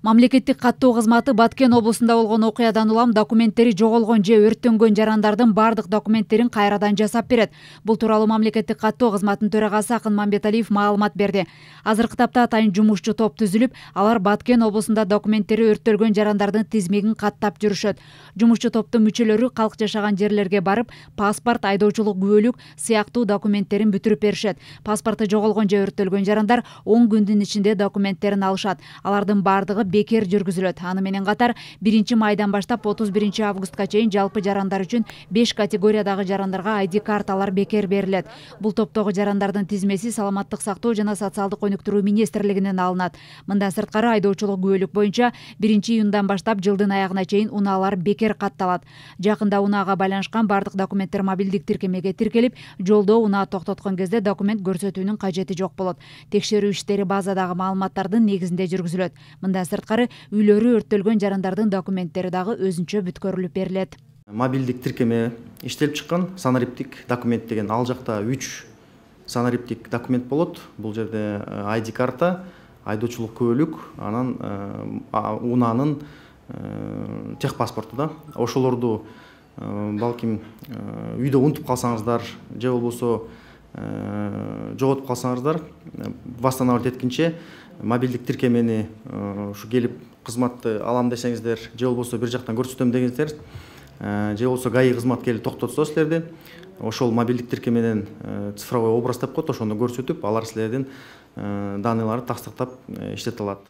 Мамлекеттик каттоо кызматы Баткен облусунда болгон окуядан улам документтери жоголгон же өрттөнгөн жарандардын бардык документтерин кайрадан жасап берет. Бул тууралуу мамлекеттик каттоо кызматынын төрагасы Акын Мамбеталиев маалымат берди. Азыркы тапта атайын жумушчу топ түзүлүп, алар Баткен облусунда документтери өрттөлгөн жарандардын тизмегин каттап жүрүшөт. Жумушчу топтун мүчөлөрү калк жашаган жерлерге барып, паспорт, айдоочулук күбөлүк сыяктуу документтерин бүтүрүп беришет. Паспорту жоголгон же өрттөлгөн жарандар 10 күндүн ичинде документтерин алышат. Алардын бардыгы бекер жүргүзүлөт. Аны менен катар 1-майдан баштап 31-августка чейин жалпы жарандар үчүн 5 категориядагы жарандарга ID карталар бекер берилет. Бул топтогу жарандардын тизмеси Саламаттык сактоо жана социалдык өнүктүрүү министрлигинен алынат. Мындан сырткары айдоочулук күбөлүк боюнча 1-июндан баштап жылдын аягына чейин унаалар бекер катталат. Жакында унаага байланышкан бардык документтер мобилдик тиркемеге тиркелип, жолдо унаа токтоткон кезде документ көрсөтүүнүн кажети жок болот. Текшерүү иштери базадагы маалыматтардын негизинде жүргүзүлөт. Мындан сырткары үйлөрү өрттөлгөн жарандардын документтери дагы өзүнчө бүткөрүлүп берилет. Мобилдик тиркеме иштелип чыккан санариптик документ деген, ал жакта 3 санариптик документ болот. Бул жерде ID карта, айдоочулук күбөлүк, анан унаанын техпаспорту да. Ошолорду балким үйдө унутуп калсаңыздар же болбосо жоготуп калсаңыздар, восстановить эткенче мобилдик тиркемени ушу келип кызматты алам десеңиздер, же болбосо бир жактан көрсөтөм дегенсиздер, же болбосо ГАИ кызмат келип токтотсо силерди, ошол мобилдик тиркеменен цифровой образ деп коет, ошону көрсөтүп, алар силердин данныйларды тастыктап иштете алат.